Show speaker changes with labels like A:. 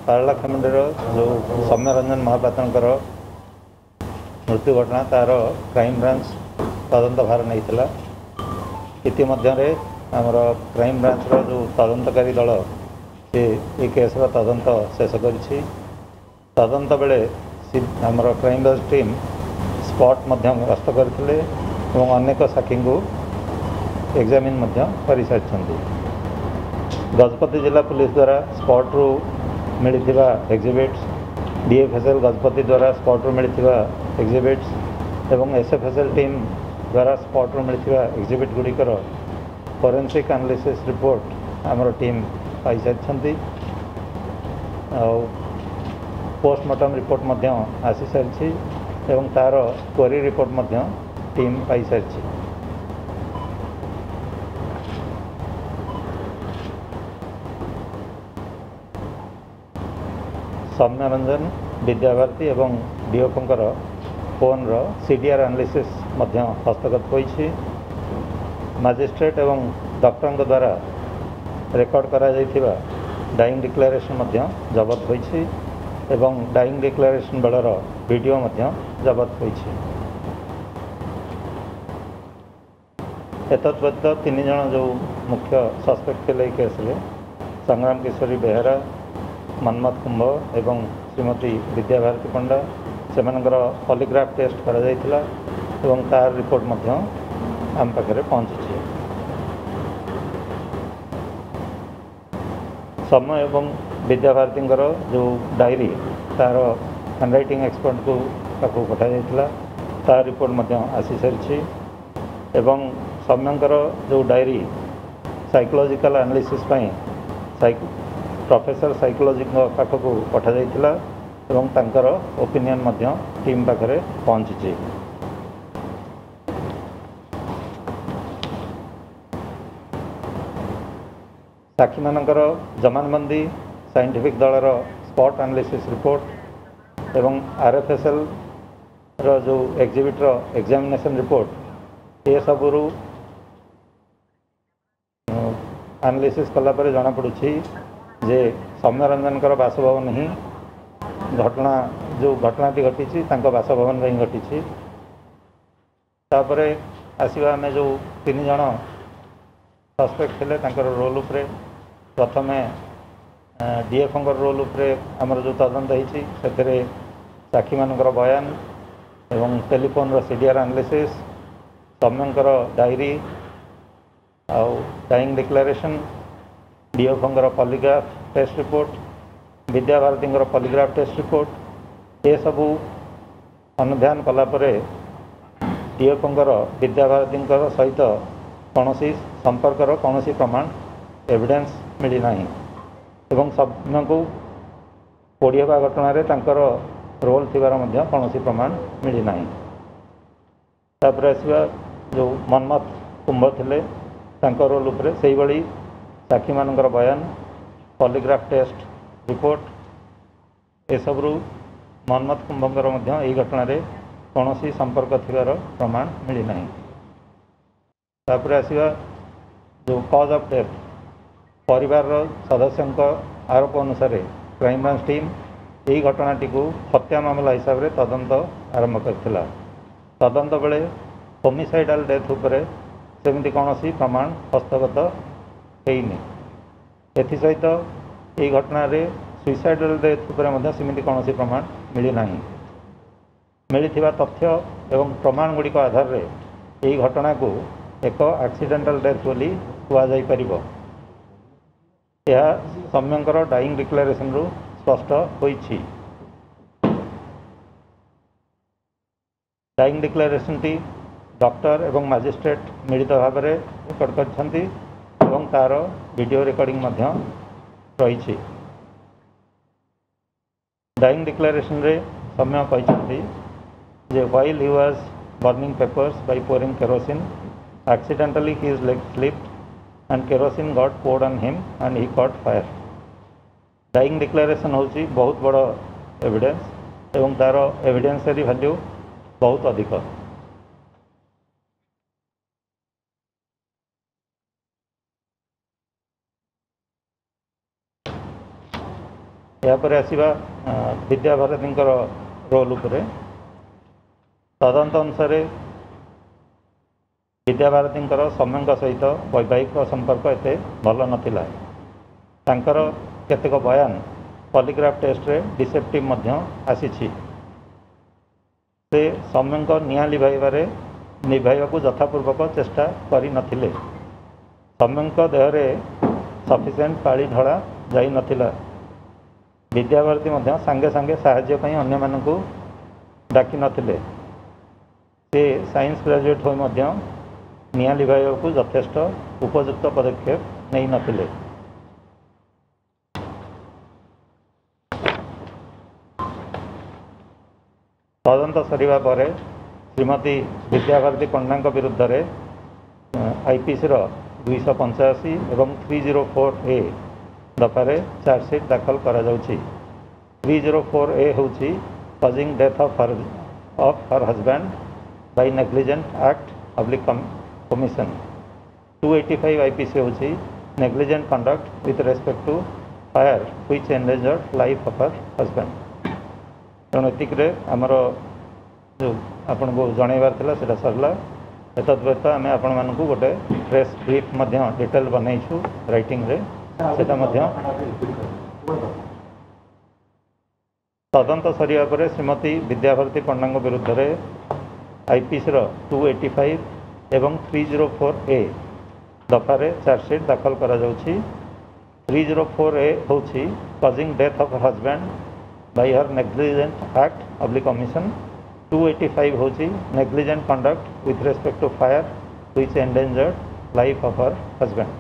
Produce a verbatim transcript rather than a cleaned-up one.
A: ପାରଳାଖେମୁଣ୍ଡିର ଯେଉଁ ସୌମ୍ୟରଞ୍ଜନ ମହାପାତ୍ରଙ୍କର ମୃତ୍ୟୁ ଘଟଣା ତା'ର କ୍ରାଇମବ୍ରାଞ୍ଚ ତଦନ୍ତ ଭାର ନେଇଥିଲା। ଇତିମଧ୍ୟରେ ଆମର କ୍ରାଇମବ୍ରାଞ୍ଚର ଯେଉଁ ତଦନ୍ତକାରୀ ଦଳ ସେ ଏ କେସ୍ର ତଦନ୍ତ ଶେଷ କରିଛି। ତଦନ୍ତ ବେଳେ ଆମର କ୍ରାଇମବ୍ରାଞ୍ଚ ଟିମ୍ ସ୍ପଟ୍ ମଧ୍ୟ ଗସ୍ତ କରିଥିଲେ ଏବଂ ଅନେକ ସାକ୍ଷୀଙ୍କୁ ଏକ୍ଜାମିନ୍ ମଧ୍ୟ କରିସାରିଛନ୍ତି। ଗଜପତି ଜିଲ୍ଲା ପୁଲିସ ଦ୍ୱାରା ସ୍ପଟ୍ରୁ ମିଳିଥିବା ଏକ୍ଜିବିଟ୍ସ, ଡିଏଫ୍ଏସ୍ଏଲ୍ ଗଜପତି ଦ୍ୱାରା ସ୍ପଟ୍ରୁ ମିଳିଥିବା ଏକ୍ଜିବିଟ୍ସ ଏବଂ ଏସ୍ଏଫ୍ଏସ୍ଏଲ୍ ଟିମ୍ ଦ୍ୱାରା ସ୍ପଟ୍ରୁ ମିଳିଥିବା ଏକ୍ଜିବିଟ୍ ଗୁଡ଼ିକର ଫରେନ୍ସିକ୍ ଆନାଲିସିସ୍ ରିପୋର୍ଟ ଆମର ଟିମ୍ ପାଇସାରିଛନ୍ତି। ଆଉ ପୋଷ୍ଟମର୍ଟମ୍ ରିପୋର୍ଟ ମଧ୍ୟ ଆସିସାରିଛି ଏବଂ ତା'ର କ୍ୱେରି ରିପୋର୍ଟ ମଧ୍ୟ ଟିମ୍ ପାଇସାରିଛି। ସୌମ୍ୟରଞ୍ଜନ, ବିଦ୍ୟାଭାରତୀ ଏବଂ ଡିଓପଙ୍କର ଫୋନ୍ର ସି ଡି ଆର୍ ଆନାଲିସିସ୍ ମଧ୍ୟ ହସ୍ତଗତ ହୋଇଛି। ମାଜିଷ୍ଟ୍ରେଟ୍ ଏବଂ ଡକ୍ଟରଙ୍କ ଦ୍ୱାରା ରେକର୍ଡ଼ କରାଯାଇଥିବା ଡାଇଂ ଡିକ୍ଲାରେସନ୍ ମଧ୍ୟ ଜବତ ହୋଇଛି ଏବଂ ଡାଇଂ ଡିକ୍ଲାରେସନ୍ ବେଳର ଭିଡ଼ିଓ ମଧ୍ୟ ଜବତ ହୋଇଛି। ଏତଦ୍ ବ୍ୟତୀତ ତିନି ଜଣ ଯେଉଁ ମୁଖ୍ୟ ସସ୍ପେକ୍ଟ ଥିଲେ ଏହି କେସ୍ରେ, ସଂଗ୍ରାମ କିଶୋରୀ ବେହେରା, ମନ୍ମଥ କୁମ୍ଭ ଏବଂ ଶ୍ରୀମତୀ ବିଦ୍ୟାଭାରତୀ ପଣ୍ଡା, ସେମାନଙ୍କର ପଲିଗ୍ରାଫ ଟେଷ୍ଟ କରାଯାଇଥିଲା ଏବଂ ତାର ରିପୋର୍ଟ ମଧ୍ୟ ଆମ ପାଖରେ ପହଞ୍ଚିଛି। ସୌମ୍ୟ ଏବଂ ବିଦ୍ୟାଭାରତୀଙ୍କର ଯେଉଁ ଡାଏରୀ ତା'ର ହ୍ୟାଣ୍ଡରାଇଟିଂ ଏକ୍ସପର୍ଟକୁ ପାଖକୁ ପଠାଯାଇଥିଲା, ତା ରିପୋର୍ଟ ମଧ୍ୟ ଆସିସାରିଛି ଏବଂ ସୌମ୍ୟଙ୍କର ଯେଉଁ ଡାଏରୀ ସାଇକୋଲୋଜିକାଲ ଆନାଲିସିସ୍ ପାଇଁ ପ୍ରଫେସର ସାଇକୋଲୋଜିଙ୍କ ପାଖକୁ ପଠାଯାଇଥିଲା ଏବଂ ତାଙ୍କର ଓପିନିଅନ୍ ମଧ୍ୟ ଟିମ୍ ପାଖରେ ପହଞ୍ଚିଛି। ସାକ୍ଷୀମାନଙ୍କର ଜମାନବନ୍ଦୀ, ସାଇଣ୍ଟିଫିକ୍ ଦଳର ସ୍ପଟ୍ ଆନାଲିସିସ୍ ରିପୋର୍ଟ ଏବଂ ଆର୍ଏଫ୍ଏସ୍ଏଲ୍ର ଯେଉଁ ଏକ୍ଜିବିଟ୍ର ଏକ୍ଜାମିନେସନ୍ ରିପୋର୍ଟ, ଏସବୁରୁ ଆନାଲିସିସ୍ କଲା ପରେ ଜଣାପଡ଼ୁଛି ଯେ ସୌମ୍ୟରଞ୍ଜନଙ୍କର ବାସଭବନ ହିଁ ଘଟଣା, ଯେଉଁ ଘଟଣାଟି ଘଟିଛି ତାଙ୍କ ବାସଭବନରେ ହିଁ ଘଟିଛି। ତାପରେ ଆସିବା ଆମେ ଯେଉଁ ତିନି ଜଣ ସସ୍ପେକ୍ଟ ଥିଲେ ତାଙ୍କର ରୋଲ୍ ଉପରେ। ପ୍ରଥମେ ଡିଏଫ୍ଓଙ୍କର ରୋଲ୍ ଉପରେ ଆମର ଯେଉଁ ତଦନ୍ତ ହେଇଛି ସେଥିରେ ସାକ୍ଷୀମାନଙ୍କର ବୟାନ ଏବଂ ଟେଲିଫୋନ୍ର ସି ଡି ଆର୍ ଆନାଲିସିସ୍, ସୌମ୍ୟଙ୍କର ଡାଏରୀ ଆଉ ଡାଇଂ ଡିକ୍ଲାରେସନ୍, ଡିଏଫ୍ଓଙ୍କର ପଲିଗ୍ରାଫ ଟେଷ୍ଟ ରିପୋର୍ଟ, ବିଦ୍ୟାଭାରତୀଙ୍କର ପଲିଗ୍ରାଫ ଟେଷ୍ଟ ରିପୋର୍ଟ, ଏସବୁ ଅନୁଧ୍ୟାନ କଲା ପରେ ଡିଏଫ୍ଓଙ୍କର ବିଦ୍ୟାଭାରତୀଙ୍କର ସହିତ କୌଣସି ସମ୍ପର୍କର କୌଣସି ପ୍ରମାଣ ଏଭିଡେନ୍ସ ମିଳିନାହିଁ ଏବଂ ସୌମ୍ୟଙ୍କୁ ପୋଡ଼ି ହେବା ଘଟଣାରେ ତାଙ୍କର ରୋଲ୍ ଥିବାର ମଧ୍ୟ କୌଣସି ପ୍ରମାଣ ମିଳିନାହିଁ। ତାପରେ ଆସିବା ଯେଉଁ ମନ୍ମଥ କୁମ୍ଭ ଥିଲେ ତାଙ୍କ ରୋଲ୍ ଉପରେ, ସେଇଭଳି ସାକ୍ଷୀମାନଙ୍କର ବୟାନ, ପଲିଗ୍ରାଫ ଟେଷ୍ଟ ରିପୋର୍ଟ, ଏସବୁରୁ ମନ୍ମଥ କୁମ୍ଭଙ୍କର ମଧ୍ୟ ଏହି ଘଟଣାରେ କୌଣସି ସମ୍ପର୍କ ଥିବାର ପ୍ରମାଣ ମିଳିନାହିଁ। ତାପରେ ଆସିବା ଯେଉଁ କଜ୍ ଅଫ୍ ଡେଥ୍, ପରିବାରର ସଦସ୍ୟଙ୍କ ଆରୋପ ଅନୁସାରେ କ୍ରାଇମବ୍ରାଞ୍ଚ ଟିମ୍ ଏହି ଘଟଣାଟିକୁ ହତ୍ୟା ମାମଲା ହିସାବରେ ତଦନ୍ତ ଆରମ୍ଭ କରିଥିଲା। ତଦନ୍ତ ବେଳେ ହୋମିସାଇଡ଼ାଲ ଡେଥ୍ ଉପରେ ସେମିତି କୌଣସି ପ୍ରମାଣ ହସ୍ତଗତ ହେଇନି। ଏଥିସହିତ ଏହି ଘଟଣାରେ ସୁଇସାଇଡ଼ାଲ ଡେଥ୍ ଉପରେ ମଧ୍ୟ ସେମିତି କୌଣସି ପ୍ରମାଣ ମିଳିନାହିଁ। ମିଳିଥିବା ତଥ୍ୟ ଏବଂ ପ୍ରମାଣ ଗୁଡ଼ିକ ଆଧାରରେ ଏହି ଘଟଣାକୁ ଏକ ଆକ୍ସିଡେଣ୍ଟାଲ ଡେଥ୍ ବୋଲି କୁହାଯାଇପାରିବ। ଏହା ସୌମ୍ୟଙ୍କର ଡାଇଂ ଡିକ୍ଲାରେସନରୁ ସ୍ପଷ୍ଟ ହୋଇଛି। ଡାଇଂ ଡିକ୍ଲାରେସନଟି ଡକ୍ଟର ଏବଂ ମାଜିଷ୍ଟ୍ରେଟ୍ ମିଳିତ ଭାବରେ ରେକର୍ଡ଼ କରିଛନ୍ତି ଏବଂ ତା'ର ଭିଡ଼ିଓ ରେକର୍ଡ଼ିଂ ମଧ୍ୟ ରହିଛି। ଡାଇଂ ଡିକ୍ଲାରେସନରେ ସୌମ୍ୟ କହିଛନ୍ତି ଯେ while he was burning papers by pouring kerosene, accidentally his leg slipped and kerosene got poured on him and he caught fire. Dying declaration ହେଉଛି ବହୁତ ବଡ଼ ଏଭିଡେନ୍ସ ଏବଂ ତା'ର ଏଭିଡେନ୍ସରୀ ଭ୍ୟାଲ୍ୟୁ ବହୁତ ଅଧିକ। ଏହାପରେ ଆସିବା ବିଦ୍ୟାଭାରତୀଙ୍କର ରୋଲ୍ ଉପରେ। ତଦନ୍ତ ଅନୁସାରେ ବିଦ୍ୟାଭାରତୀଙ୍କର ସୌମ୍ୟଙ୍କ ସହିତ ବୈବାହିକ ସମ୍ପର୍କ ଏତେ ଭଲ ନଥିଲା। ତାଙ୍କର କେତେକ ବୟାନ ପଲିଗ୍ରାଫ ଟେଷ୍ଟରେ ଡିସେପ୍ଟିଭ୍ ମଧ୍ୟ ଆସିଛି। ସେ ସୌମ୍ୟଙ୍କ ନିଆଁ ଲିଭାଇବାରେ ନିଭାଇବାକୁ ଯଥାପୂର୍ବକ ଚେଷ୍ଟା କରିନଥିଲେ। ସୌମ୍ୟଙ୍କ ଦେହରେ ସଫିସିଏଣ୍ଟ ପାଳି ଢଳା ଯାଇନଥିଲା। ବିଦ୍ୟାଭାରତୀ ମଧ୍ୟ ସାଙ୍ଗେ ସାଙ୍ଗେ ସାହାଯ୍ୟ ପାଇଁ ଅନ୍ୟମାନଙ୍କୁ ଡାକିନଥିଲେ। ସେ ସାଇନ୍ସ ଗ୍ରାଜୁଏଟ୍ ହୋଇ ମଧ୍ୟ ନିଆଁ ଲିଭାଇବାକୁ ଯଥେଷ୍ଟ ଉପଯୁକ୍ତ ପଦକ୍ଷେପ ନେଇନଥିଲେ। ତଦନ୍ତ ସରିବା ପରେ ଶ୍ରୀମତୀ ବିଦ୍ୟାଭାରତୀ ପଣ୍ଡାଙ୍କ ବିରୁଦ୍ଧରେ ଆଇପିସିର ଦୁଇଶହ ପଞ୍ଚାଅଶୀ ଏବଂ ଥ୍ରୀ ଜିରୋ ଫୋର୍ ଏ ଦଫାରେ ଚାର୍ଜସିଟ୍ ଦାଖଲ କରାଯାଉଛି। ଥ୍ରୀ ଜିରୋ ଫୋର୍ ଏ ହେଉଛି causing death of her of her husband by negligent act oblique commission. Two eighty five I P C ହେଉଛି negligent conduct with respect to fire which endangered life of her husband. ତେଣୁ ଏତିକିରେ ଆମର ଯେଉଁ ଆପଣଙ୍କୁ ଜଣାଇବାର ଥିଲା, ସେଇଟା ସରିଲା। ଏତଦ୍ ବ୍ୟତୀତ ଆମେ ଆପଣମାନଙ୍କୁ ଗୋଟେ ପ୍ରେସ୍ ବ୍ରିଫ୍ ମଧ୍ୟ ଡିଟେଲ୍ ବନେଇଛୁ ରାଇଟିଂରେ, ସେଇଟା ମଧ୍ୟ। ତଦନ୍ତ ସରିବା ପରେ ଶ୍ରୀମତୀ ବିଦ୍ୟାଭାରତୀ ପଣ୍ଡାଙ୍କ ବିରୁଦ୍ଧରେ ଆଇପିସିର ଟୁ ଏଇଟି ଫାଇଭ୍ ଏବଂ ଥ୍ରୀ ଜିରୋ ଫୋର୍ ଏ ଦଫାରେ ଚାର୍ଜସିଟ୍ ଦାଖଲ କରାଯାଉଛି। ଥ୍ରୀ ଜିରୋ ଫୋର୍ ଏ ହେଉଛି causing death of husband by her negligent act oblique omission. Two eighty five ହେଉଛି negligent conduct with respect to fire which endangered life of her husband.